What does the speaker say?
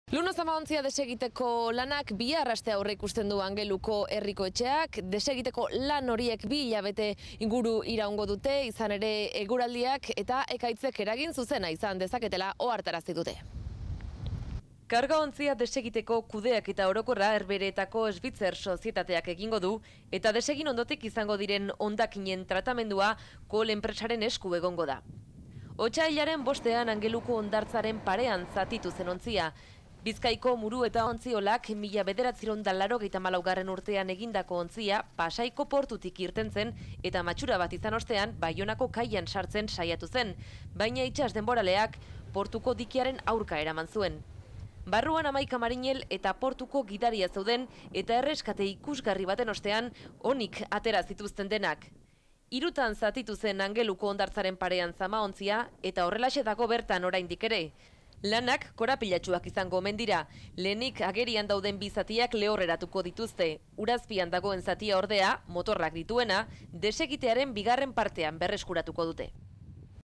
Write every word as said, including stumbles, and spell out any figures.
Luno zamaontzia desegiteko lanak bi arraste aurre ikusten du Angeluko herriko etxeak. Desegiteko lan horiek bi hilabete inguru iraungo dute, izan ere eguraldiak eta ekaitzek eragin zuzena izan dezaketela ohartarazi dute. Karga ontzia desegiteko kudeak eta orokorra Herbehereetako Svitzer sozietateak egingo du, eta desegin ondotik izango diren hondakinen tratamendua Kohl enpresaren esku egongo da. Otsailaren bostean Angeluko hondartzaren parean zatitu zen ontzia. Bizkaiko Muru eta Ontziolak mila bederatziehun eta laurogeita hamalaugarren urtean egindako ontzia Pasaiko portutik irten zen eta matxura bat izan ostean Baionako kaian sartzen saiatu zen, baina itsas denboraleak portuko dikiaren aurka eraman zuen. Barruan hamaika marinel eta portuko gidaria zeuden eta erreskate ikusgarri baten ostean onik atera zituzten denak. Hirutan zatitu zen Angeluko hondartzaren parean zamaontzia eta horrelaxe dago bertan oraindik ere. Lanak korapilatsuak izango omen dira. Lehenik agerian dauden bi zatiak lehorreratuko dituzte. Urazpian dagoen zatia ordea, motorrak dituena, desegitearen bigarren partean berreskuratuko dute.